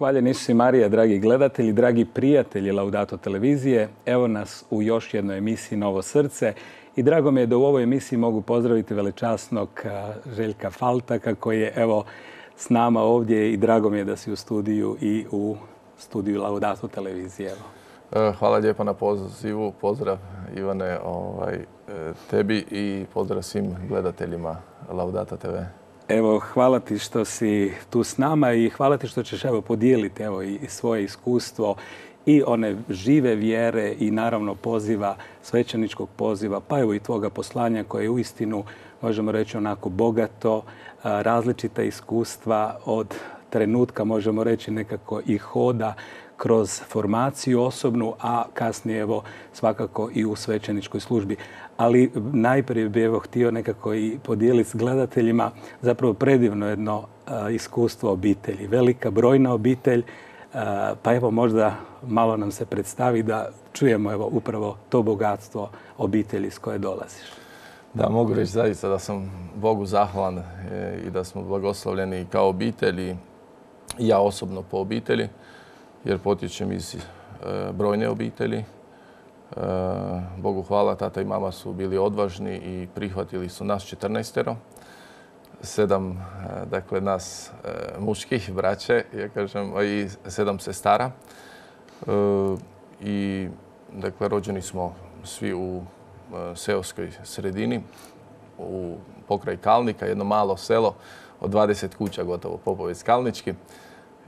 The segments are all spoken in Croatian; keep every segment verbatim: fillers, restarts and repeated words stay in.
Hvaljen Isus i Marija, dragi gledatelji, dragi prijatelji Laudato televizije. Evo nas u još jednoj emisiji Novo srce i drago mi je da u ovoj emisiji mogu pozdraviti velečasnog Željka Faltaka koji je evo s nama ovdje i drago mi je da si u studiju i u studiju Laudato televizije. Evo. Hvala lijepa na pozivu. Pozdrav Ivane ovaj, tebi i pozdrav svim gledateljima Laudato te ve. Evo, hvala ti što si tu s nama i hvala ti što ćeš evo podijeliti evo i svoje iskustvo i one žive vjere i naravno poziva, svećeničkog poziva, pa evo i tvoga poslanja koje je uistinu, možemo reći, onako bogato, različita iskustva od trenutka, možemo reći, nekako i hoda kroz formaciju osobnu, a kasnije evo svakako i u svećeničkoj službi. Ali najprije bih evo htio nekako i podijeliti s gledateljima zapravo predivno jedno uh, iskustvo obitelji. Velika, brojna obitelj, uh, pa evo možda malo nam se predstavi da čujemo evo upravo to bogatstvo obitelji s koje dolaziš. Da, mogu reći zaista da sam Bogu zahvalan e, i da smo blagoslovljeni kao obitelj i ja osobno po obitelji, jer potječem iz e, brojne obitelji. E, Bogu hvala, tata i mama su bili odvažni i prihvatili su nas četrnaestero. Sedam, e, dakle, nas e, muških braće, ja kažem, i sedam sestara. E, I, dakle, rođeni smo svi u e, seoskoj sredini, u pokraj Kalnika, jedno malo selo od dvadeset kuća, gotovo Popovec Kalnički.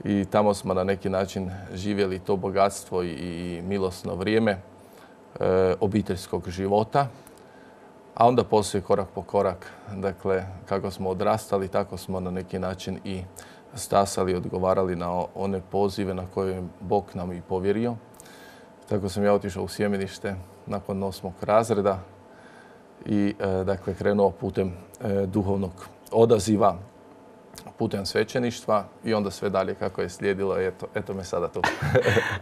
I tamo smo na neki način živjeli to bogatstvo i, i milosno vrijeme e, obiteljskog života. A onda poslije korak po korak, dakle, kako smo odrastali, tako smo na neki način i stasali i odgovarali na one pozive na koje je Bog nam i povjerio. Tako sam ja otišao u sjemenište nakon osmog razreda i e, dakle, krenuo putem e, duhovnog odaziva, putem svećeništva i onda sve dalje kako je slijedilo. Eto, eto me sada tu.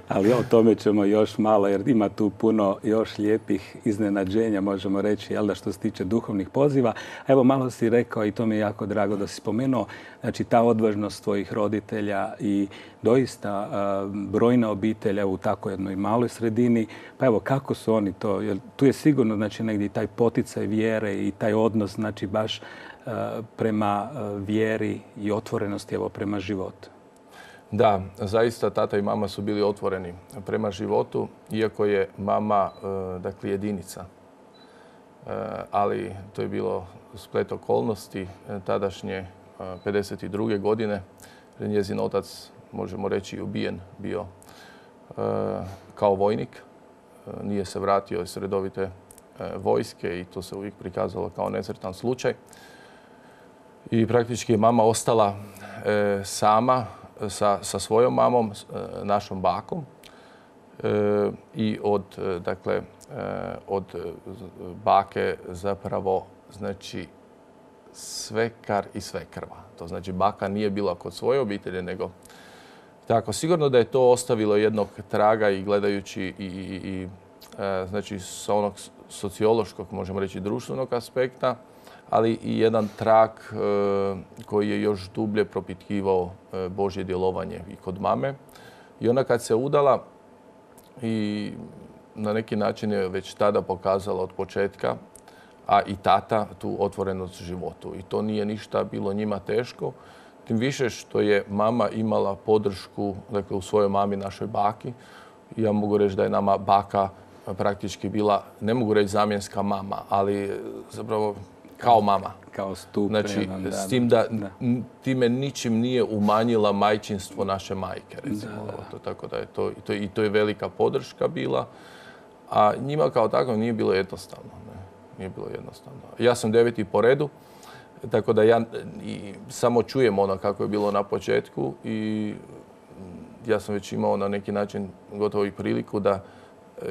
Ali o tome ćemo još malo jer ima tu puno još lijepih iznenađenja, možemo reći, jel da, što se tiče duhovnih poziva. Evo malo si rekao i to mi je jako drago da si spomenuo, znači ta odvažnost tvojih roditelja i doista uh, brojna obitelja u tako jednoj maloj sredini. Pa evo kako su oni to, jer tu je sigurno znači negdje taj poticaj vjere i taj odnos znači baš prema vjeri i otvorenosti evo prema životu. Da, zaista tata i mama su bili otvoreni prema životu, iako je mama dakle jedinica. Ali to je bilo splet okolnosti tadašnje pedeset druge godine. Njezin otac, možemo reći, ubijen bio kao vojnik. Nije se vratio iz redovite vojske i to se uvijek prikazalo kao nesretan slučaj. I praktički je mama ostala e, sama sa, sa svojom mamom, e, našom bakom. E, I od, e, dakle, e, od bake zapravo znači svekar i svekrva. To znači baka nije bila kod svoje obitelji, nego tako. Sigurno da je to ostavilo jednog traga i gledajući i, i, i e, znači sa onog sociološkog, možemo reći, društvenog aspekta, ali i jedan trag e, koji je još dublje propitkivao e, Božje djelovanje i kod mame. I ona kad se udala i na neki način je već tada pokazala od početka, a i tata, tu otvorenost životu. I to nije ništa bilo njima teško. Tim više što je mama imala podršku, dakle, u svojoj mami, našoj baki. Ja mogu reći da je nama baka praktički bila, ne mogu reći zamjenska mama, ali zapravo kao mama. Kao stup. Znači, s tim da, da time ničim nije umanjila majčinstvo naše majke, recimo. Da, da. To, tako da je to, i, to, i to je velika podrška bila. A njima kao tako nije bilo jednostavno. Ne? Nije bilo jednostavno. Ja sam deveti po redu, tako da ja i samo čujem ono kako je bilo na početku i ja sam već imao na neki način gotovo i priliku da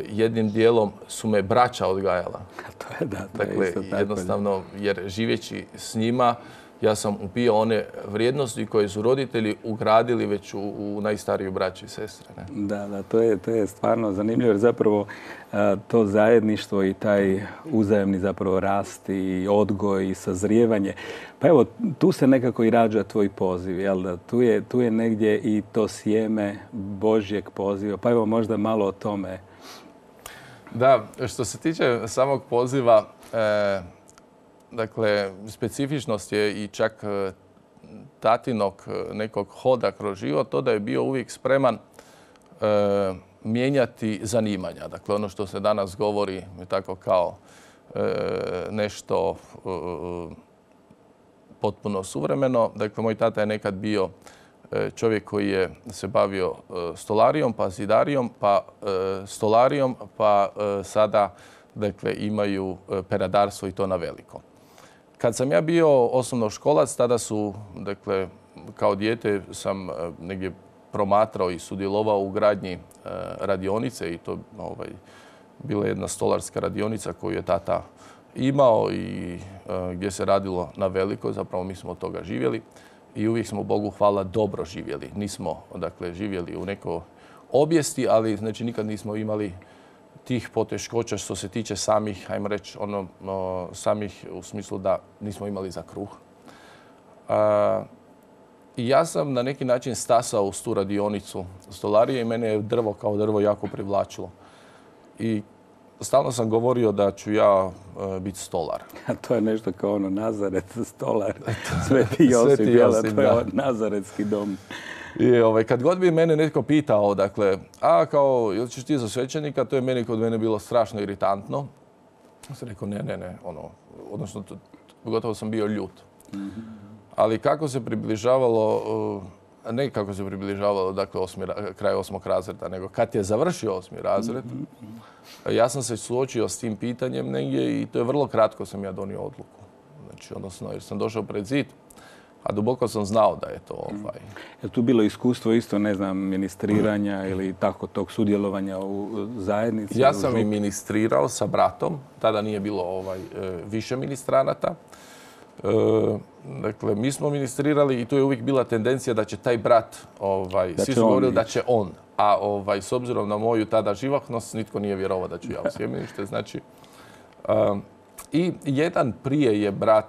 jednim dijelom su me braća odgajala. To je, da, to dakle, je isto tako. Jednostavno, jer živeći s njima, ja sam upio one vrijednosti koje su roditelji ugradili već u, u najstariju braću i sestre. Ne? Da, da, to je, to je stvarno zanimljivo jer zapravo a, to zajedništvo i taj uzajemni zapravo rast i odgoj i sazrijevanje. Pa evo, tu se nekako i rađa tvoj poziv, jel da? Tu je, tu je negdje i to sjeme Božjeg poziva. Pa evo možda malo o tome. Da, što se tiče samog poziva, e, dakle, specifičnost je i čak tatinog nekog hoda kroz život, to da je bio uvijek spreman e, mijenjati zanimanja. Dakle, ono što se danas govori je tako kao e, nešto e, potpuno suvremeno. Dakle, moj tata je nekad bio e, čovjek koji je se bavio e, stolarijom, pa zidarijom, pa e, stolarijom, pa e, sada dakle, imaju peradarstvo i to na veliko. Kad sam ja bio osnovnoškolac, tada su, dakle, kao dijete sam negdje promatrao i sudjelovao u gradnji radionice i to ovaj, bila jedna stolarska radionica koju je tata imao i gdje se radilo na veliko. Zapravo mi smo od toga živjeli i uvijek smo, Bogu hvala, dobro živjeli. Nismo, dakle, živjeli u nekoj obijesti, ali znači nikad nismo imali tih poteškoća što se tiče samih, ajmo reći, ono, no, samih u smislu da nismo imali za kruh. A, I ja sam na neki način stasao uz tu radionicu stolarije i mene je drvo kao drvo jako privlačilo. I stalno sam govorio da ću ja e, biti stolar. A to je nešto kao ono Nazaret, stolar, Sveti Josip, Sveti Josip, to je Nazaretski dom. I ovaj, kad god bi mene netko pitao, dakle, a kao, ili ćeš ti za svećenika, to je meni kod mene bilo strašno iritantno. Ja sam rekao, ne, ne, ne, ono, odnosno, to, gotovo sam bio ljut. Mm-hmm. Ali kako se približavalo, ne kako se približavalo, dakle, osmi, kraj osmog razreda, nego kad je završio osmi razred, mm-hmm. ja sam se suočio s tim pitanjem negdje i to je vrlo kratko sam ja donio odluku. Znači, odnosno, jer sam došao pred zid, a duboko sam znao da je to ovaj... Je tu bilo iskustvo isto, ne znam, ministriranja ili tako tog sudjelovanja u zajednici? Ja sam i ministrirao sa bratom. Tada nije bilo ovaj, više ministranata. E, dakle, mi smo ministrirali i tu je uvijek bila tendencija da će taj brat, ovaj, svi su govorili da će on. A ovaj, s obzirom na moju tada živahnost, nitko nije vjerovao da ću ja u sjemenište. Znači, um, i jedan prije je brat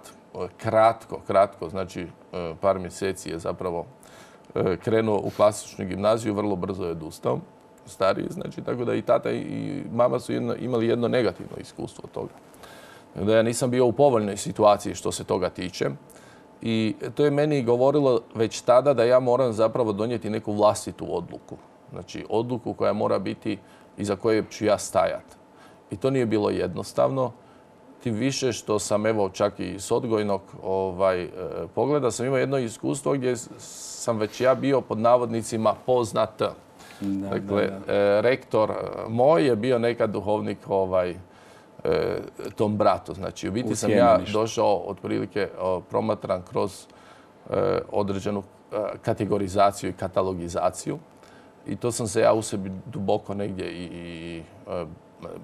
kratko, kratko, znači par mjeseci je zapravo krenuo u klasičnu gimnaziju, vrlo brzo je odustao, stariji, znači, tako da i tata i mama su jedno, imali jedno negativno iskustvo od toga. Da ja nisam bio u povoljnoj situaciji što se toga tiče i to je meni govorilo već tada da ja moram zapravo donijeti neku vlastitu odluku. Znači, odluku koja mora biti iza koje ću ja stajati. I to nije bilo jednostavno. Tim više što sam, evo, čak i s odgojnog ovaj, pogleda, sam imao jedno iskustvo gdje sam već ja bio pod navodnicima poznat. Da, dakle, da, da. rektor moj je bio nekad duhovnik ovaj, tom bratu. Znači, u biti sam ja došao otprilike promatran kroz određenu kategorizaciju i katalogizaciju. I to sam se ja u sebi duboko negdje i, i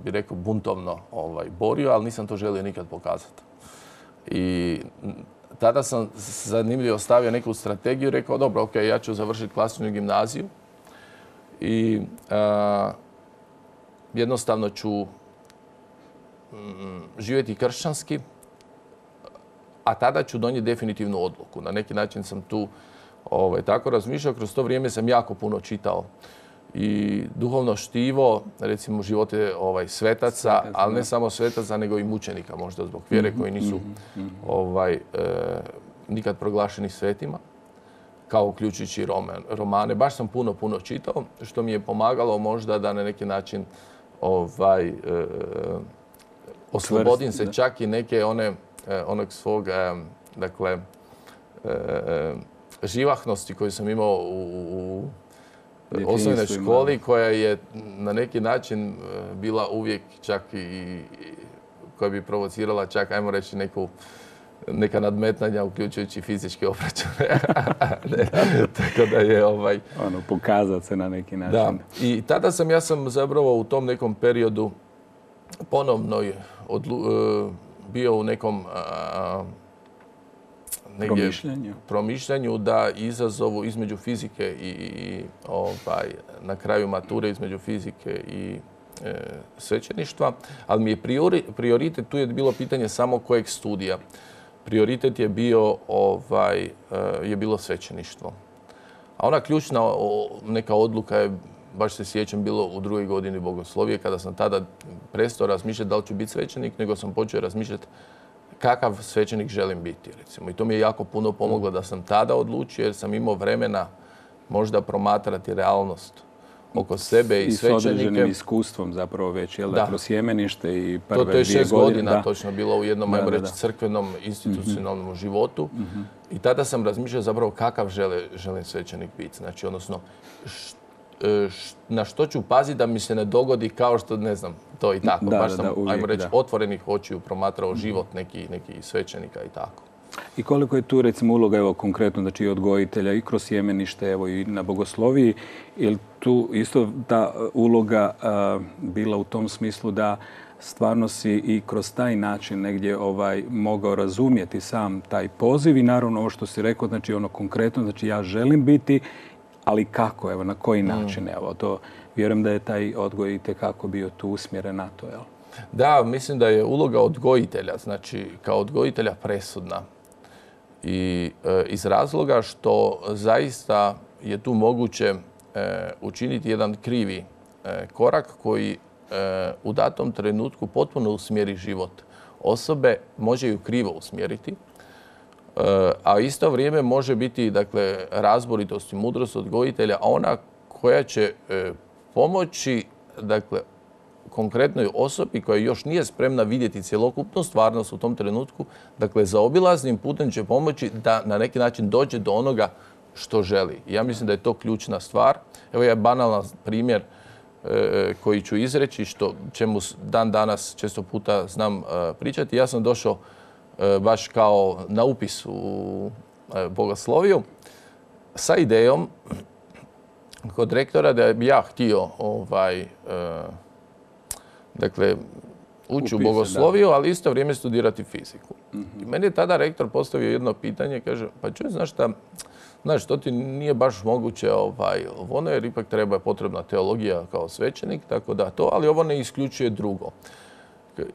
bi rekao buntovno ovaj, borio, ali nisam to želio nikad pokazati. I tada sam zanimljivo stavio neku strategiju i rekao, dobro, ok, ja ću završiti klasičnu gimnaziju i a, jednostavno ću mm, živjeti kršćanski, a tada ću donijeti definitivnu odluku. Na neki način sam tu ovaj, tako razmišljao. Kroz to vrijeme sam jako puno čitao i duhovno štivo, recimo živote ovaj, svetaca, Svetac, ali ne samo svetaca, nego i mučenika možda zbog vjere koji nisu mm-hmm. ovaj, e, nikad proglašeni svetima, kao uključujući roman, romane. Baš sam puno, puno čitao, što mi je pomagalo možda da na neki način ovaj, e, oslobodim se čak i neke one, onog svog, e, dakle, e, živahnosti koju sam imao u, u osnovnoj školi, koja je na neki način bila uvijek čak i koja bi provocirala čak, ajmo reći, neku, neka nadmetanja, uključujući fizičke obračune. Tako da je ovaj... Ono, pokazati se na neki način. Da. I tada sam, ja sam zapravo u tom nekom periodu ponovno odlu, bio u nekom, promišljanju. promišljanju da izazovu između fizike i, i ovaj, na kraju mature između fizike i e, svećeništva, ali mi je priori, prioritet, tu je bilo pitanje samo kojeg studija. Prioritet je bio ovaj, e, je bilo svećeništvo. A ona ključna o, neka odluka je, baš se sjećam, bilo u drugoj godini bogoslovije, kada sam tada prestao razmišljati da li ću biti svećenik, nego sam počeo razmišljati kakav svećenik želim biti, recimo. I to mi je jako puno pomoglo da sam tada odlučio, jer sam imao vremena možda promatrati realnost oko sebe i, I svećenike. I s određenim iskustvom zapravo već, jel da, kroz sjemenište i prve to, to je dvije šest godine. godina Da. točno bilo u jednom, Da, ajmo da, reći, da. crkvenom, institucionalnom mm-hmm. životu. Mm-hmm. I tada sam razmišljao zapravo kakav žele, želim svećenik biti. Znači, odnosno, š, š, na što ću paziti da mi se ne dogodi kao što, ne znam, to i tako. Da, Baš da, sam, da, uvijek, ajmo reći, da. otvorenih očiju promatrao život nekih neki svećenika i tako. I koliko je tu recimo uloga, evo konkretno, znači i odgojitelja i kroz sjemenište, evo i na bogosloviji, je li tu isto ta uloga a, bila u tom smislu da stvarno si i kroz taj način negdje ovaj mogao razumjeti sam taj poziv i naravno ovo što si rekao, znači ono konkretno, znači ja želim biti, ali kako, evo na koji način, mm. evo to vjerujem da je taj odgoj itekako bio tu usmjeren na to, jel? Da, mislim da je uloga odgojitelja, znači kao odgojitelja presudna. I e, iz razloga što zaista je tu moguće e, učiniti jedan krivi e, korak koji e, u datom trenutku potpuno usmjeri život osobe, može ju krivo usmjeriti, e, a isto vrijeme može biti, dakle, razboritost i mudrost odgojitelja ona koja će e, pomoći, dakle, konkretnoj osobi koja još nije spremna vidjeti cjelokupnu stvarnost u tom trenutku, dakle, zaobilaznim putem će pomoći da na neki način dođe do onoga što želi. Ja mislim da je to ključna stvar. Evo je banalan primjer e, koji ću izreći, što čemu dan danas često puta znam e, pričati. Ja sam došao e, baš kao na upis u e, bogosloviju sa idejom kod rektora da bi ja htio ovaj, e, dakle, ući u bogosloviju, da. Ali isto vrijeme studirati fiziku. Mm-hmm. I meni je tada rektor postavio jedno pitanje, kaže, pa čuj, znaš šta, znaš, to ti nije baš moguće ovaj, ono, jer ipak treba potrebna teologija kao svećenik, tako da to, ali ovo ne isključuje drugo.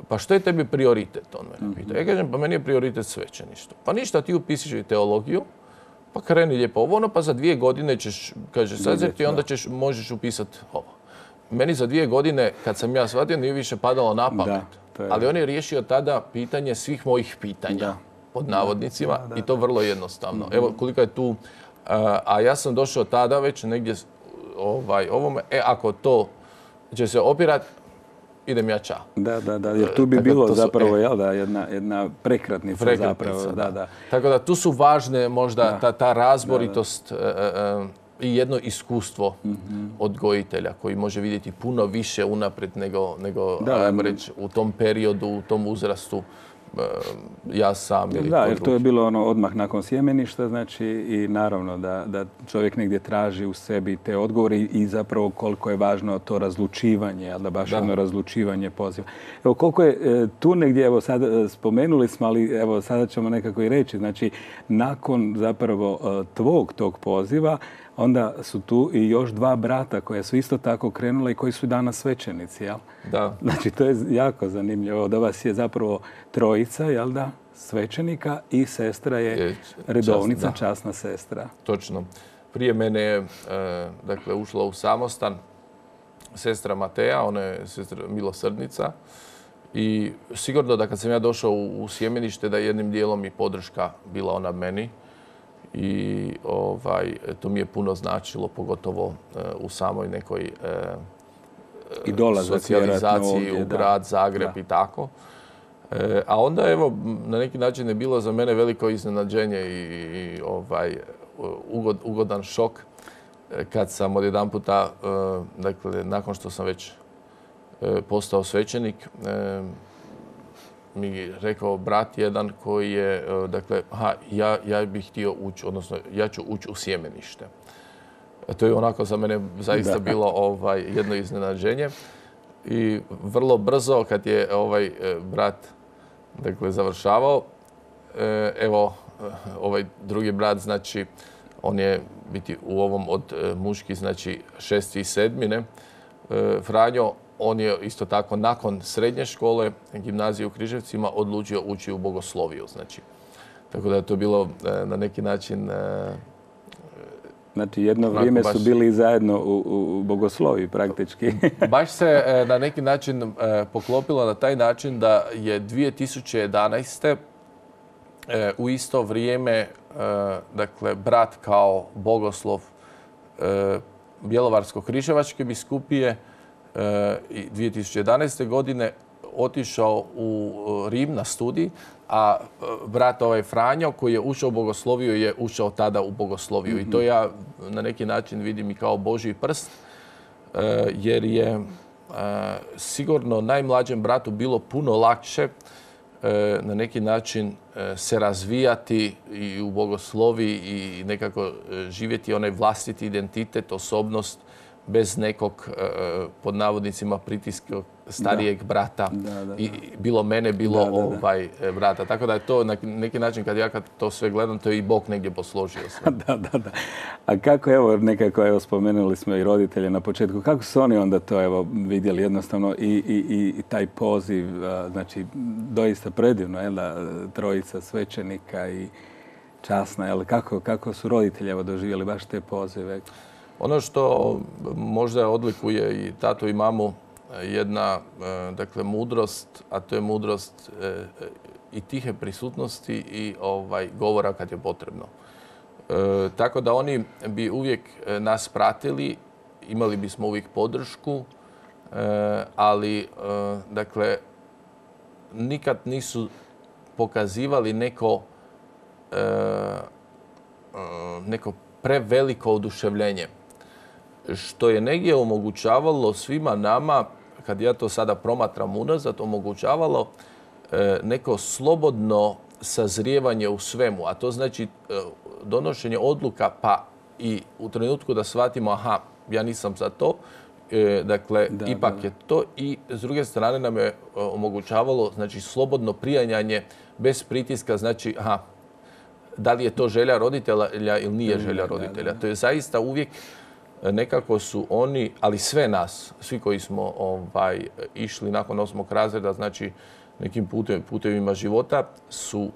Pa što je tebi prioritet? On mene pita. Ja kažem, pa meni je prioritet svećeništvo. Pa ništa, ti upisiš i teologiju, pa kreni lijepo ovo, ono, pa za dvije godine ćeš, kaže, sazreti i onda ćeš, možeš upisati ovo. Meni za dvije godine, kad sam ja shvatio, nije više padalo na pamet. Da, je... Ali on je riješio tada pitanje svih mojih pitanja, da. Pod navodnicima, da, da, da. I to vrlo jednostavno. Mm-hmm. Evo koliko je tu, a, a ja sam došao tada već negdje ovaj, ovome, e, ako to će se opirati, idem ja ča. Da, da, da, jer tu bi tako bilo su, zapravo, e, jel da, jedna, jedna prekretnica, prekretnica zapravo. Da, da. Tako da tu su važne možda da. ta, ta razboritost, da, da. Uh, uh, i jedno iskustvo mm-hmm. odgojitelja koji može vidjeti puno više unaprijed nego, nego da, ajmo reći, u tom periodu, u tom uzrastu ja sam ili da, jer to je bilo ono odmah nakon sjemeništa, znači i naravno da, da čovjek negdje traži u sebi te odgovore i, i zapravo koliko je važno to razlučivanje, ali da baš da. ono razlučivanje poziva. Evo koliko je e, tu negdje, evo sad spomenuli smo, ali evo sada ćemo nekako i reći, znači nakon zapravo e, tvog tog poziva, onda su tu i još dva brata koja su isto tako krenula i koji su danas svećenici, jel? Da. Znači, to je jako zanimljivo. Da vas je zapravo trojica, jel da, svećenika i sestra je, je redovnica, časna, časna sestra. Točno. Prije mene je, e, dakle, ušla u samostan sestra Mateja, ona je sestra milosrdnica. I sigurno da kad sam ja došao u, u sjemenište, da jednim dijelom i podrška bila ona meni. I ovaj, to mi je puno značilo, pogotovo uh, u samoj nekoj uh, I socijalizaciji ovdje, u grad, da, Zagreb da. I tako. E, a onda, evo, na neki način je bilo za mene veliko iznenađenje i, i ovaj, ugod, ugodan šok kad sam odjedan puta, uh, dakle, nakon što sam već uh, postao svećenik, uh, mi rekao brat jedan koji je, dakle, aha, ja, ja bih htio ući, odnosno ja ću ući u sjemenište. To je onako za mene zaista da. bilo ovaj, jedno iznenađenje. I vrlo brzo kad je ovaj brat, dakle, završavao, evo, ovaj drugi brat, znači, on je biti u ovom od muški, znači šesti i sedmi, ne? Franjo, on je isto tako nakon srednje škole, gimnazije u Križevcima, odlučio ući u bogosloviju, znači. Tako da je to bilo na neki način... Znači, jedno vrijeme su bili zajedno u, u bogosloviji praktički. Baš se na neki način poklopilo na taj način da je dvije tisuće jedanaeste. u isto vrijeme, dakle, brat kao bogoslov Bjelovarsko-križevačke biskupije dvije tisuće jedanaeste. godine otišao u Rim na studij, a brat ovaj Franjo koji je ušao u bogosloviju je ušao tada u bogosloviju. Mm-hmm. I to ja na neki način vidim i kao Božji prst, jer je sigurno najmlađem bratu bilo puno lakše na neki način se razvijati i u bogoslovi i nekako živjeti onaj vlastiti identitet, osobnost bez nekog, pod navodnicima, pritiska starijeg da. brata. Da, da, I bilo mene, bilo da, da, da. ovaj brata. Tako da je to na neki način, kad ja kad to sve gledam, to je i Bog negdje posložio sve. Da, da, da. A kako, evo, nekako, evo, spomenuli smo i roditelje na početku, kako su oni onda to, evo, vidjeli jednostavno i, i, i taj poziv, znači, doista predivno, jel da, trojica svećenika i časna, jel, kako, kako su roditelji, evo, doživjeli baš te pozive? Ono što možda odlikuje i tatu i mamu jedna, dakle, mudrost, a to je mudrost i tihe prisutnosti i ovaj, govora kad je potrebno. E, tako da oni bi uvijek nas pratili, imali bismo uvijek podršku, e, ali, e, dakle, nikad nisu pokazivali neko, e, neko preveliko oduševljenje, što je negdje omogućavalo svima nama, kad ja to sada promatram unazad, omogućavalo neko slobodno sazrijevanje u svemu. A to znači donošenje odluka, pa i u trenutku da shvatimo, aha, ja nisam za to, dakle, da, ipak da. je to. I s druge strane nam je omogućavalo, znači, slobodno prijanjanje bez pritiska, znači, aha, da li je to želja roditelja ili nije želja roditelja. Da, da. To je zaista uvijek nekako su oni, ali sve nas, svi koji smo ovaj, išli nakon osmog razreda, znači nekim putem, putevima života, su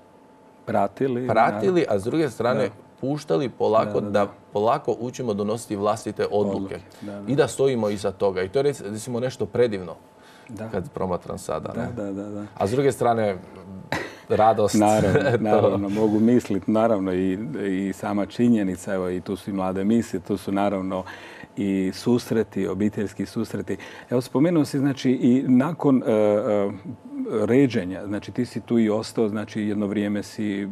pratili, pratili a s druge strane da. puštali polako da, da, da. da polako učimo donositi vlastite odluke. Da, da. I da stojimo iza toga. I to je, recimo, nešto predivno da. kad promatram sada. Da, da, da, da. A s druge strane, radost. Naravno, naravno mogu misliti, naravno i, i sama činjenica, evo, i tu su i mlade misije, tu su naravno i susreti, obiteljski susreti. Evo, spomenuo si, znači, i nakon uh, uh, ređenja, znači ti si tu i ostao, znači jedno vrijeme si,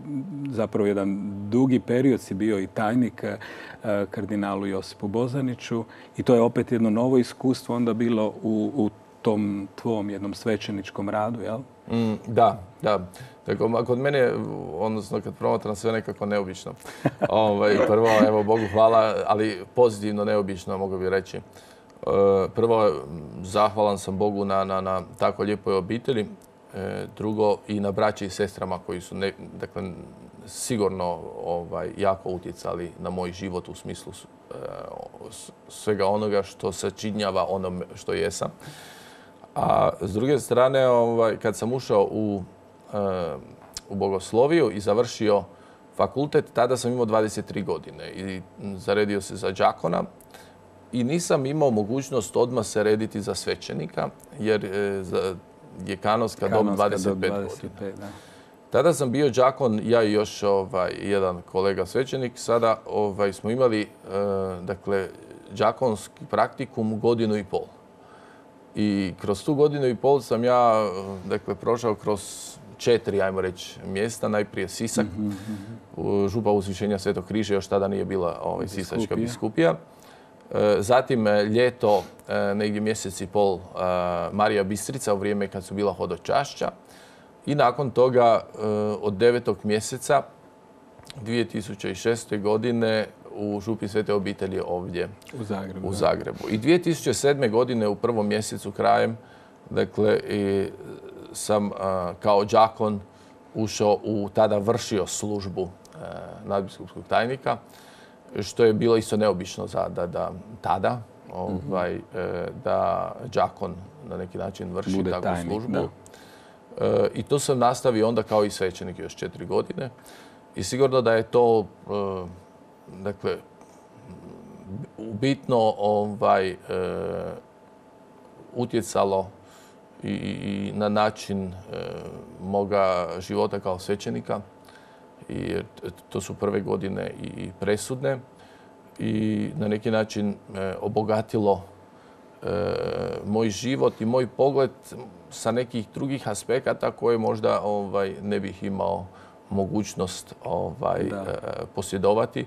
zapravo jedan dugi period si bio i tajnik uh, kardinalu Josipu Bozaniću i to je opet jedno novo iskustvo onda bilo u, u tom tvom jednom svećeničkom radu, jel? Mm, da, da. Tako, kod mene, odnosno kad promatram, sve nekako neobično. Ovaj, prvo, evo, Bogu hvala, ali pozitivno neobično, mogu bi reći. Prvo, zahvalan sam Bogu na, na, na tako lijepoj obitelji. Drugo, i na braći i sestrama koji su, ne, dakle, sigurno ovaj, jako utjecali na moj život u smislu svega onoga što sačinjava ono što jesam. A s druge strane, ovaj, kad sam ušao u, uh, u bogosloviju i završio fakultet, tada sam imao dvadeset tri godine i zaredio se za đakona i nisam imao mogućnost odmah se rediti za svećenika, jer je, za, je kanonska dob dvadeset pet godina. Da. Tada sam bio đakon, ja i još ovaj, jedan kolega svećenik. Sada ovaj, smo imali uh, dakle, đakonski praktikum godinu i pol. I kroz tu godinu i pol sam ja, dakle, prošao kroz četiri, ajmo reći, mjesta. Najprije Sisak, mm-hmm. župa Uzvišenja Svetog križa, još tada nije bila ovaj, sisačka biskupija. Zatim ljeto, negdje mjesec i pol, Marija Bistrica u vrijeme kad su bila hodočašća. I nakon toga, od devetog mjeseca dvije tisuće šeste. godine, u župi Svete obitelji ovdje u Zagrebu. U Zagrebu. I dvije tisuće sedme. godine u prvom mjesecu krajem, dakle, i sam a, kao đakon ušao u, tada vršio službu e, nadbiskupskog tajnika, što je bilo isto neobično za da, da tada ovaj, e, da đakon na neki način vrši Bude takvu tajnik, službu. da. E, I to sam nastavio onda kao i svećenik još četiri godine. I sigurno da je to, e, dakle, bitno ovaj, e, utjecalo i, i na način e, moga života kao svećenika. I to su prve godine i presudne i na neki način e, obogatilo e, moj život i moj pogled sa nekih drugih aspekata koje možda ovaj, ne bih imao mogućnost ovaj, e, posjedovati e,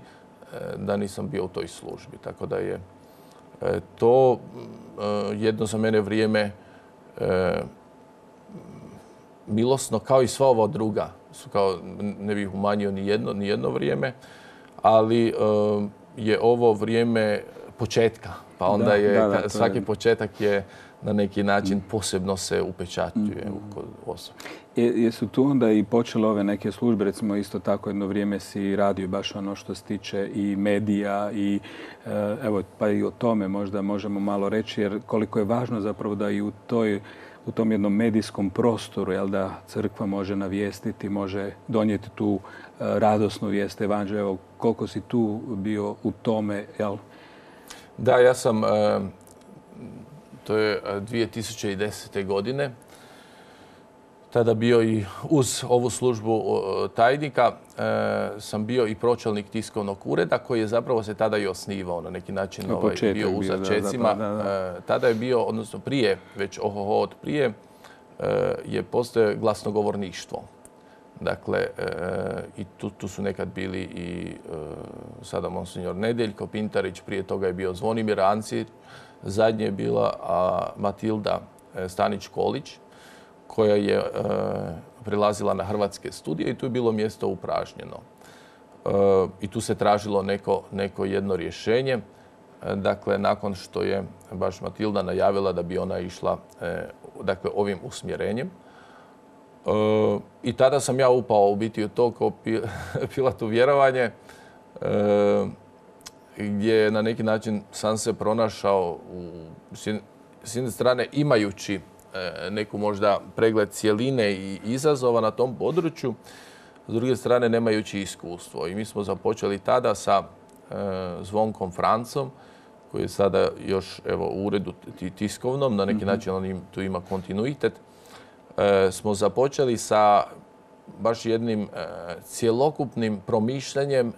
da nisam bio u toj službi. Tako da je e, to e, jedno za mene vrijeme e, milosno, kao i sva ova druga. Kao, ne bih umanjio ni jedno, ni jedno vrijeme, ali e, je ovo vrijeme početka. Pa onda Da, je, da, da, to svaki je- početak je na neki način posebno se upečatljive u kod osobe. Je- Jesu tu onda i počele ove neke službe, recimo isto tako jedno vrijeme si radio baš ono što se tiče i medija i e, evo pa i o tome možda možemo malo reći jer koliko je važno zapravo da i u toj u tom jednom medijskom prostoru, jel da crkva može navijestiti, može donijeti tu e, radosnu vijest evanđelja. Evo koliko si tu bio u tome, jel? Da, ja sam, e, to je dvije tisuće desete. godine, tada bio i uz ovu službu e, tajnika, e, sam bio i pročelnik tiskovnog ureda koji je zapravo se tada i osnivao na neki način, Na ovaj, početak bio u bio, da, začecima. zapravo, da, da. E, tada je bio, odnosno prije, već ohoho od prije, e, je postoje glasnogovorništvo. Dakle, e, i tu, tu su nekad bili i e, sada monsinjor Nedeljko Pintarić, prije toga je bio Zvonimir Ancir, zadnje je bila a, Matilda e, Stanić-Kolić, koja je e, prilazila na hrvatske studije i tu je bilo mjesto upražnjeno. E, I tu se tražilo neko, neko jedno rješenje. E, dakle, nakon što je baš Matilda najavila da bi ona išla e, dakle, ovim usmjerenjem, E, I tada sam ja upao u biti u to kao pi, Pilatu vjerovanje, e, gdje na neki način sam se pronašao u, s jedne- s jedne strane imajući e, neku možda pregled cjeline i izazova na tom području, s druge strane nemajući iskustvo. I mi smo započeli tada sa e, Zvonkom Francom, koji je sada još evo, u uredu ti- tiskovnom, na neki način on im, tu ima kontinuitet. E, smo započeli sa baš jednim e, cjelokupnim promišljanjem e,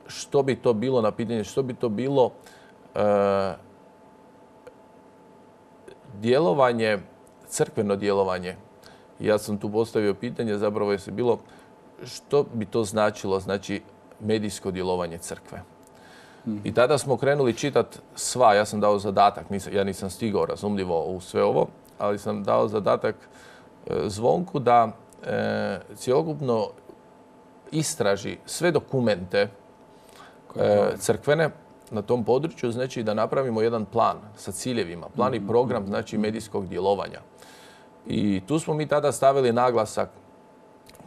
što bi to bilo na pitanje, što bi to bilo e, djelovanje, crkveno djelovanje. Ja sam tu postavio pitanje, zapravo je se bilo što bi to značilo, znači medijsko djelovanje crkve. I tada smo krenuli čitati sva, ja sam dao zadatak, nisam, ja nisam stigao razumljivo u sve ovo, ali sam dao zadatak e, Zvonku da e, cjelokupno istraži sve dokumente e, crkvene na tom području, znači da napravimo jedan plan sa ciljevima, plan i program znači medijskog djelovanja. I tu smo mi tada stavili naglasak,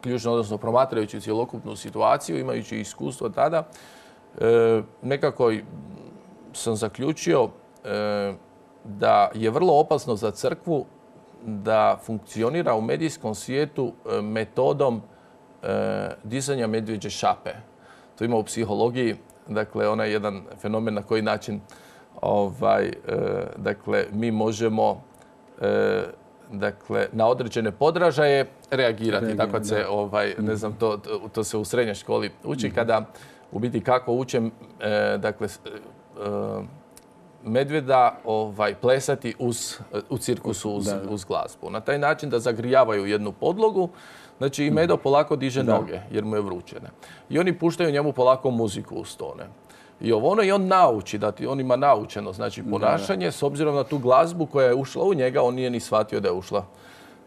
ključno, odnosno promatrajući cjelokupnu situaciju, imajući iskustvo tada, e, nekako sam zaključio e, da je vrlo opasno za crkvu da funkcionira u medijskom svijetu e, metodom e, dizanja medvjeđe šape. To ima u psihologiji, dakle, onaj jedan fenomen na koji način ovaj, e, dakle, mi možemo e, dakle, na određene podražaje reagirati. Reagira, Tako se, da. ovaj, ne znam, to, to, to se u srednjoj školi uči kada u biti kako učem, e, dakle, s- e, medvjeda ovaj, plesati uz, u cirkusu uz, Da, da. uz glazbu. Na taj način da zagrijavaju jednu podlogu, znači i Medo polako diže Da. noge jer mu je vrućene. I oni puštaju njemu polako muziku uz tone. I ovo ono i on nauči, da ti on ima naučeno znači ponašanje s obzirom na tu glazbu koja je ušla u njega, on nije ni shvatio da je ušla.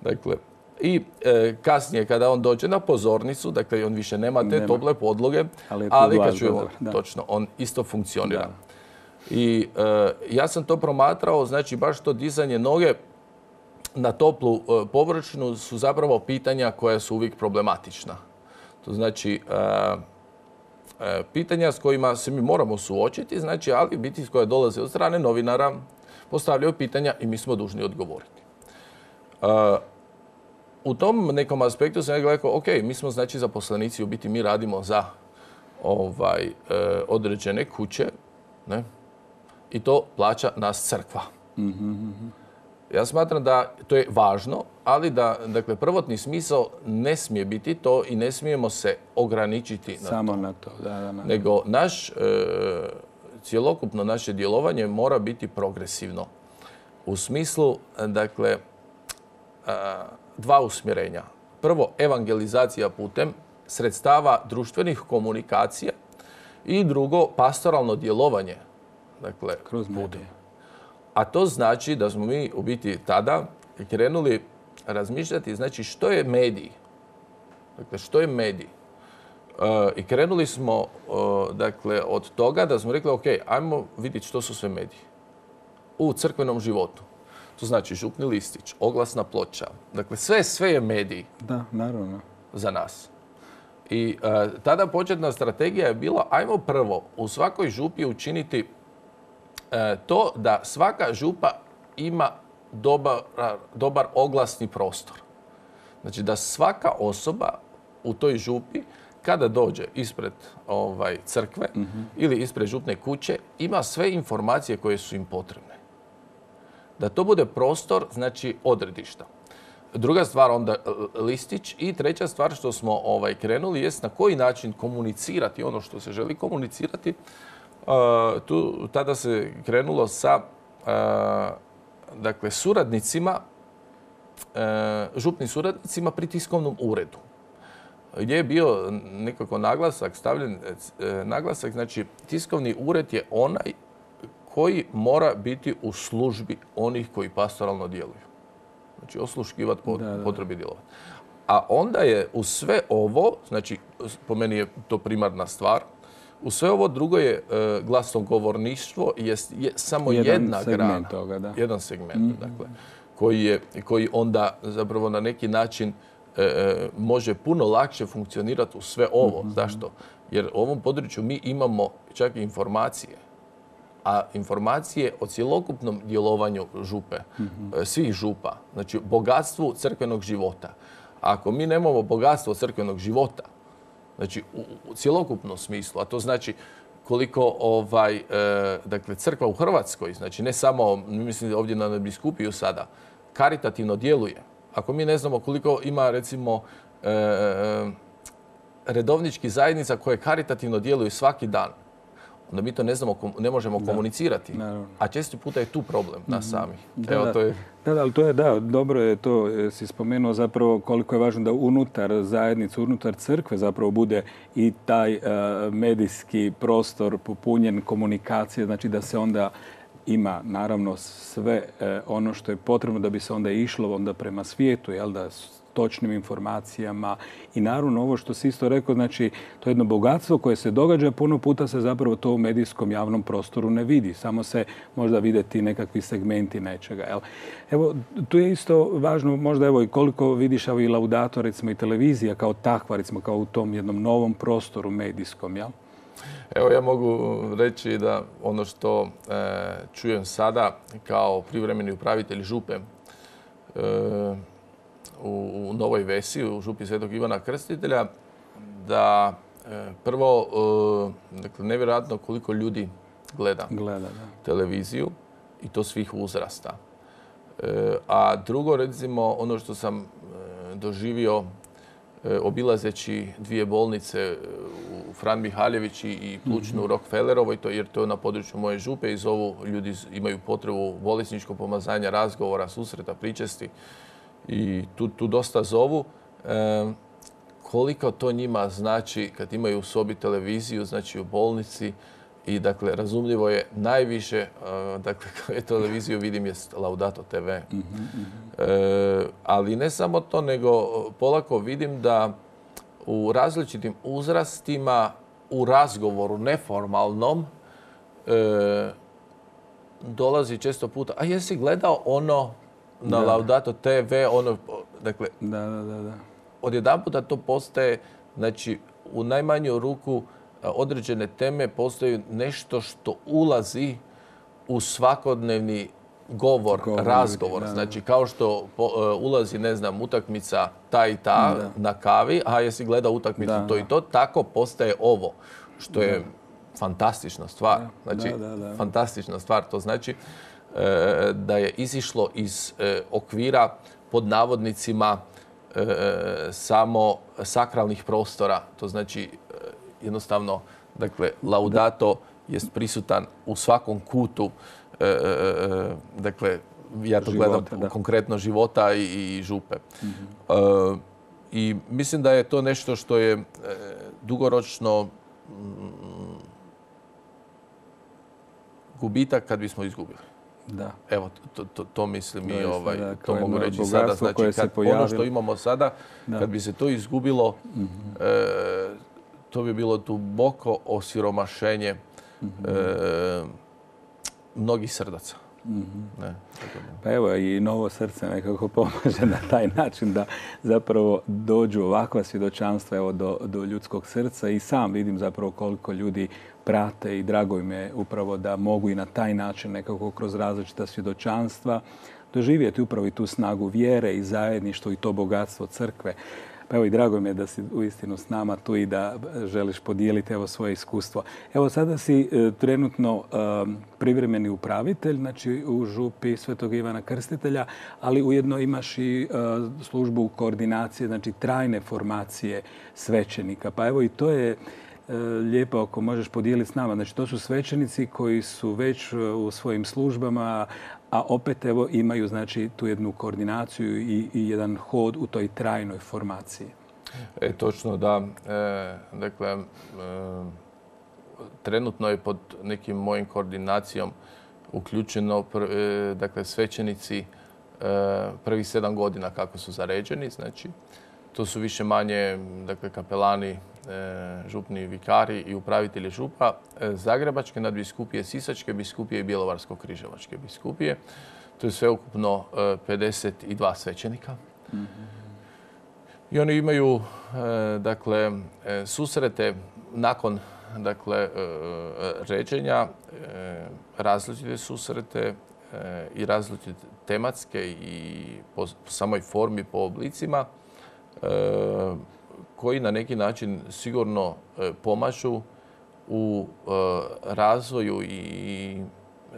Dakle, i e, kasnije kada on dođe na pozornicu, dakle on više nema te Nema. tople podloge, Ali je tu ali kad glazba, čujemo, dobro, da. točno, on isto funkcionira. Da. I e, ja sam to promatrao, znači baš to dizanje noge na toplu površinu su zapravo pitanja koja su uvijek problematična. To znači pitanja s kojima se mi moramo suočiti, znači, ali biti koje dolaze od strane novinara postavljaju pitanja i mi smo dužni odgovoriti. U tom nekom aspektu sam rekao, ok, mi smo znači zaposlenici, u biti mi radimo za ovaj, određene kuće, ne? I to plaća nas crkva. Mm-hmm. Ja smatram da to je važno, ali da, dakle, prvotni smisao ne smije biti to i ne smijemo se ograničiti na Samo to. na to, da, da, da. Nego naš, e, cjelokupno naše djelovanje mora biti progresivno. U smislu, dakle, a, dva usmjerenja. Prvo, evangelizacija putem sredstava društvenih komunikacija i drugo, pastoralno djelovanje. Dakle, kroz medije. A to znači da smo mi u biti tada krenuli razmišljati, znači što je medij? Dakle, što je medij? Uh, I krenuli smo uh, dakle, od toga da smo rekli, ok, ajmo vidjeti što su sve mediji u crkvenom životu. To znači župni listić, oglasna ploča. Dakle, sve, sve je medij. Da, naravno. Za nas. I uh, tada početna strategija je bila, ajmo prvo u svakoj župi učiniti to da svaka župa ima dobar, dobar oglasni prostor. Znači da svaka osoba u toj župi kada dođe ispred ovaj, crkve mm-hmm. ili ispred župne kuće ima sve informacije koje su im potrebne. Da to bude prostor, znači odredišta. Druga stvar onda listić i treća stvar što smo ovaj, krenuli jest na koji način komunicirati ono što se želi komunicirati. Uh, tu, tada se krenulo sa uh, dakle, suradnicima, uh, župnim suradnicima pri tiskovnom uredu. Gdje je bio nekako naglasak, stavljen uh, naglasak, znači tiskovni ured je onaj koji mora biti u službi onih koji pastoralno djeluju. Znači osluškivati pot, potrebi djelovati. A onda je u sve ovo, znači po meni je to primarna stvar, u sve ovo drugo je e, glasnogovorništvo je, je samo jedan jedna grana. Toga, da. Jedan segment, mm-hmm. dakle, koji, je, koji onda zapravo na neki način e, može puno lakše funkcionirati u sve ovo. Mm-hmm. Zašto? Jer u ovom području mi imamo čak i informacije. A informacije o cjelokupnom djelovanju župe, mm-hmm. svih župa, znači bogatstvu crkvenog života. Ako mi nemamo bogatstvo crkvenog života, znači u, u cjelokupnom smislu, a to znači koliko ovaj, e, dakle, crkva u Hrvatskoj, znači ne samo, mislim ovdje na biskupiju sada, karitativno djeluje. Ako mi ne znamo koliko ima recimo e, redovničkih zajednica koje karitativno djeluju svaki dan, onda mi to ne znamo, ne možemo da. komunicirati. Naravno. A često puta je tu problem nas samih. Da, Evo, da. To je... Da, da, ali to je, da, dobro je to, si spomenuo zapravo koliko je važno da unutar zajednice, unutar crkve zapravo bude i taj uh, medijski prostor popunjen komunikacije, znači da se onda ima naravno sve uh, ono što je potrebno da bi se onda išlo onda prema svijetu, jel da, točnim informacijama i naravno ovo što si isto rekao, znači to je jedno bogatstvo koje se događa, puno puta se zapravo to u medijskom javnom prostoru ne vidi, samo se možda vide ti nekakvi segmenti nečega. Jel? Evo, tu je isto važno možda evo i koliko vidiš evo, i Laudato, recimo i televizija kao takva, recimo kao u tom jednom novom prostoru medijskom, jel? Evo ja mogu reći da ono što e, čujem sada kao privremeni upravitelj župe e, u Novoj Vesi, u župi Svetog Ivana Krstitelja, da e, prvo, e, dakle, nevjerojatno koliko ljudi gleda, gleda televiziju i to svih uzrasta. E, a drugo, recimo, ono što sam e, doživio e, obilazeći dvije bolnice u Fran Mihaljević i plućnu mm-hmm. Rockefellerovoj, to, jer to je na području moje župe i zovu, ljudi imaju potrebu bolesničkog pomazanja, razgovora, susreta, pričesti. I tu, tu dosta zovu. E, koliko to njima znači kad imaju u sobi televiziju, znači u bolnici. I dakle, razumljivo je najviše, e, dakle, kada televiziju vidim je Laudato te ve. Mm-hmm. E, ali ne samo to, nego polako vidim da u različitim uzrastima, u razgovoru neformalnom, e, dolazi često puta, a jesi gledao ono na Da. Laudato te ve, ono, dakle, Da, da, da, da. odjedanputa to postaje, znači, u najmanju ruku a, određene teme postaju nešto što ulazi u svakodnevni govor, Govor, razgovor. da, da. Znači, kao što po- e, ulazi, ne znam, utakmica ta i ta Da. na kavi, a jesi gledao utakmicu Da, to da. i to, tako postaje ovo, što je fantastična stvar. Da, Znači, da, da. fantastična stvar. To znači e, da je izišlo iz e, okvira pod navodnicima e, samo sakralnih prostora. To znači e, jednostavno, dakle, Laudato jest prisutan u svakom kutu, e, e, dakle, ja to Života, gledam da. konkretno života i, i župe. E, I mislim da je to nešto što je e, dugoročno mm, gubitak kad bismo izgubili. Da. Evo, to, to, to mislim i Doista, ovaj, da, to kao mogu jedno reći sada. bogatstvo koje Znači, se kad, ono pojavilo. što imamo sada, Da. kad bi se to izgubilo, e, to bi bilo duboko osiromašenje e, mnogih srdaca. Ne, tako da. Pa evo i novo srce nekako pomaže na taj način da zapravo dođu ovakva svjedočanstva evo, do, do ljudskog srca i sam vidim zapravo koliko ljudi prate i drago im je upravo da mogu i na taj način nekako kroz različita svjedočanstva doživjeti upravo i tu snagu vjere i zajedništvo i to bogatstvo crkve. Pa evo i drago mi je da si uistinu s nama tu i da želiš podijeliti evo svoje iskustvo. Evo sada si e, trenutno e, privremeni upravitelj, znači u župi Svetog Ivana Krstitelja, ali ujedno imaš i e, službu koordinacije, znači trajne formacije svećenika. Pa evo i to je e, lijepo ako možeš podijeliti s nama. Znači to su svećenici koji su već u svojim službama, a opet evo imaju znači tu jednu koordinaciju i, i jedan hod u toj trajnoj formaciji. E, točno, da. E, dakle, e, trenutno je pod nekim mojim koordinacijom uključeno pr, e, dakle, svećenici e, prvih sedam godina kako su zaređeni. Znači, to su više manje dakle, kapelani, e, župni vikari i upravitelji župa e, Zagrebačke nadbiskupije, Sisačke biskupije i Bjelovarsko-križevačke biskupije. To je sveukupno e, pedeset dva svećenika. Mm-hmm. I oni imaju e, dakle, e, susrete nakon dakle, e, ređenja, e, različite susrete e, i različite tematske i po, po samoj formi, po oblicima, e, koji na neki način sigurno e, pomažu u e, razvoju i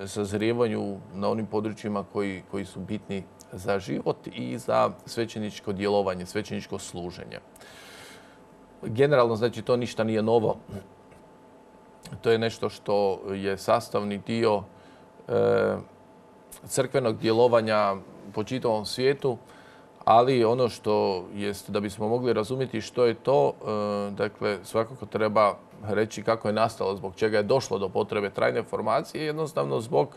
sazrijevanju na onim područjima koji, koji su bitni za život i za svećeničko djelovanje, svećeničko služenje. Generalno, znači, to ništa nije novo. To je nešto što je sastavni dio e, crkvenog djelovanja po čitavom svijetu, ali ono što jest, da bismo mogli razumjeti što je to, e, dakle, svakako treba reći kako je nastalo, zbog čega je došlo do potrebe trajne formacije, jednostavno zbog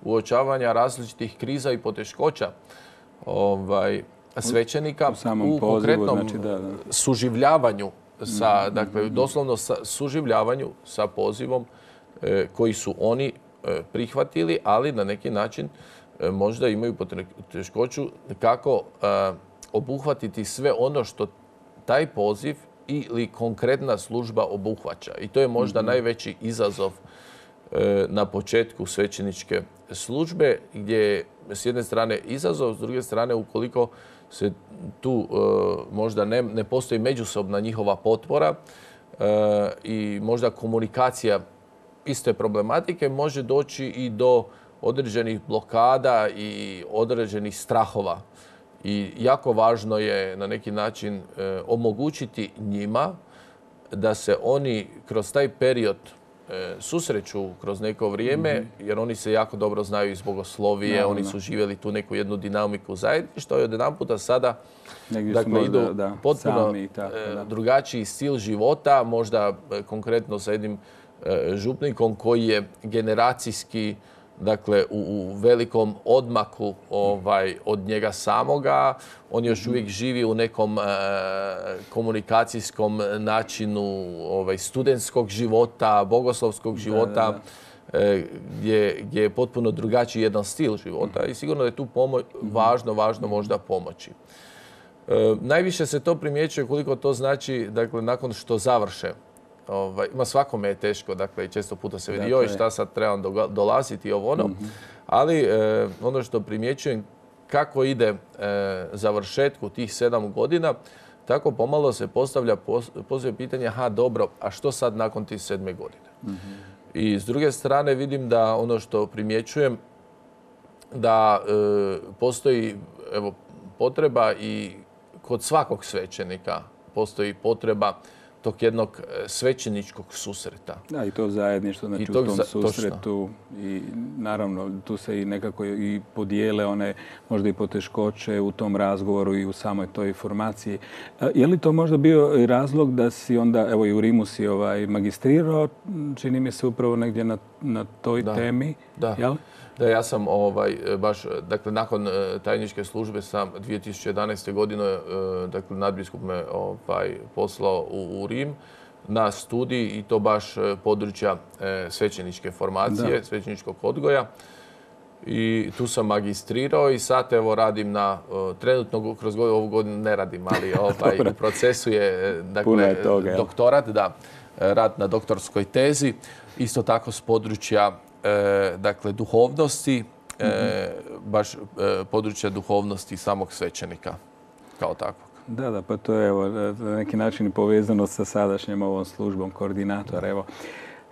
uočavanja različitih kriza i poteškoća ovaj, svećenika u, u pozivu, konkretnom znači, da, da. suživljavanju, sa, dakle, doslovno sa suživljavanju sa pozivom e, koji su oni e, prihvatili, ali na neki način e, možda imaju poteškoću kako e, obuhvatiti sve ono što taj poziv ili konkretna služba obuhvaća. I to je možda mm-hmm. najveći izazov e, na početku svećeničke službe, gdje je s jedne strane izazov, s druge strane ukoliko se tu e, možda ne, ne postoji međusobna njihova potpora e, i možda komunikacija iste problematike, može doći i do određenih blokada i određenih strahova. I jako važno je na neki način e, omogućiti njima da se oni kroz taj period e, susreću kroz neko vrijeme, mm-hmm. jer oni se jako dobro znaju iz bogoslovije, no, oni no. su živjeli tu neku jednu dinamiku zajedništva i odjedanputa sada dakle, idu da, da, potpuno tako, da. drugačiji stil života, možda e, konkretno sa jednim e, župnikom koji je generacijski dakle, u, u velikom odmaku ovaj, od njega samoga. On još uvijek živi u nekom e, komunikacijskom načinu ovaj, studentskog života, bogoslovskog života. Da, gdje, gdje je potpuno drugačiji jedan stil života i sigurno je tu pomo- važno, važno možda pomoći. E, najviše se to primjećuje koliko to znači, dakle, nakon što završe. Ovaj, ima svakome je teško, dakle, i često puta se vidi, dakle, joj, šta sad trebam dolaziti i ovo ono. Mm-hmm. Ali e, ono što primjećujem, kako ide e, završetku tih sedam godina, tako pomalo se postavlja postavlja pitanje, aha, dobro, a što sad nakon tih sedme godine? Mm-hmm. I s druge strane vidim da ono što primjećujem, da e, postoji evo, potreba i kod svakog svećenika postoji potreba tog jednog svećeničkog susreta. Da, i to zajedništvo, znači u tom za, susretu. Točno. I naravno, tu se i nekako i podijele one možda i poteškoće u tom razgovoru i u samoj toj formaciji. Je li to možda bio razlog da si onda, evo i u Rimu si ovaj, magistrirao, čini mi se upravo negdje na, na toj da. temi? Da. Jel? Da, ja sam ovaj, baš, dakle, nakon tajničke službe sam dvije tisuće jedanaeste. godine, dakle, nadbiskup me ovaj, poslao u, u Rim na studij i to baš područja e, svećeničke formacije, da. svećeničkog odgoja. I tu sam magistrirao i sad evo radim na, trenutno kroz ovu godinu ne radim, ali ovaj, u procesu je, dakle, je toga, doktorat, da, rad na doktorskoj tezi, isto tako s područja E, dakle, duhovnosti, e, mm-hmm. baš e, područja duhovnosti samog svećenika kao takvog. Da, da, pa to je evo, na neki način povezano sa sadašnjom ovom službom koordinatora. Evo,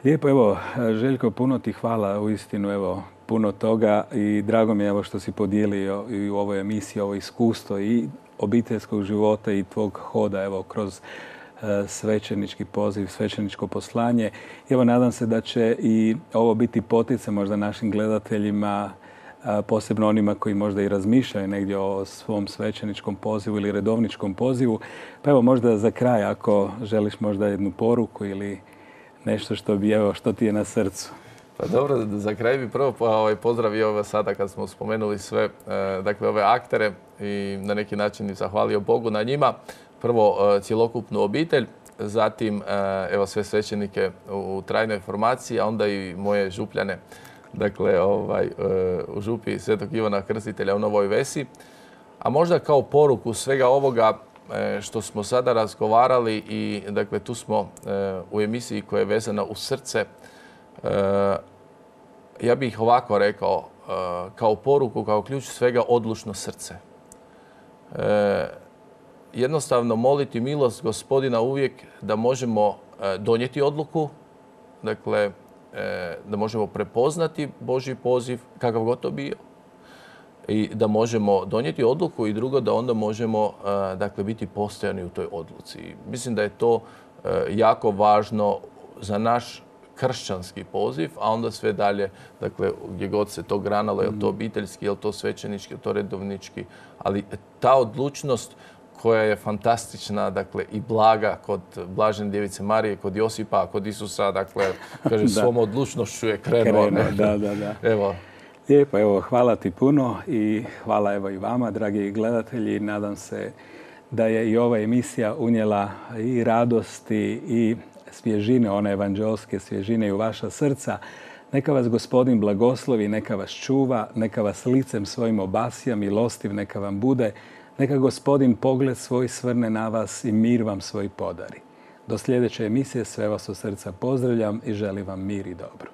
lijepo, evo, Željko, puno ti hvala, uistinu, evo, puno toga i drago mi je evo, što si podijelio i u ovoj emisiji ovo iskustvo i obiteljskog života i tvog hoda evo, kroz svećenički poziv, svećeničko poslanje. Evo, nadam se da će i ovo biti poticaj možda našim gledateljima, posebno onima koji možda i razmišljaju negdje o svom svećeničkom pozivu ili redovničkom pozivu. Pa evo, možda za kraj, ako želiš možda jednu poruku ili nešto što bi, evo, što ti je na srcu. Pa dobro, za kraj bi prvo ovaj, pozdravio ovo sada kad smo spomenuli sve, dakle, ove aktere i na neki način zahvalio Bogu na njima. Prvo cjelokupnu obitelj, zatim evo sve svećenike u trajnoj formaciji, a onda i moje župljane, dakle ovaj, u župi Svetog Ivana Krstitelja u Novoj Vesi. A možda kao poruku svega ovoga što smo sada razgovarali i dakle tu smo u emisiji koja je vezana uz srce, ja bih ovako rekao, kao poruku, kao ključ svega odlučno srce. Jednostavno moliti milost Gospodina uvijek da možemo donijeti odluku, dakle da možemo prepoznati Božji poziv, kakav god to bio, i da možemo donijeti odluku i drugo da onda možemo dakle biti postojani u toj odluci. Mislim da je to jako važno za naš kršćanski poziv, a onda sve dalje, dakle, gdje god se to granalo, je li to obiteljski, je li to svećenički, je li to redovnički, ali ta odlučnost koja je fantastična, dakle, i blaga kod Blažene Djevice Marije, kod Josipa, kod Isusa, dakle, kaže, svom odlučnošću je krenuo. Krenuo, da, da, da. Evo. Lijepo, evo, hvala ti puno i hvala evo i vama, dragi gledatelji. Nadam se da je i ova emisija unijela i radosti i svježine, one evanđelske svježine i u vaša srca. Neka vas Gospodin blagoslovi, neka vas čuva, neka vas licem svojim obasja, milostiv neka vam bude. Neka Gospodin pogled svoj svrne na vas i mir vam svoj podari. Do sljedeće emisije sve vas od srca pozdravljam i želim vam mir i dobro.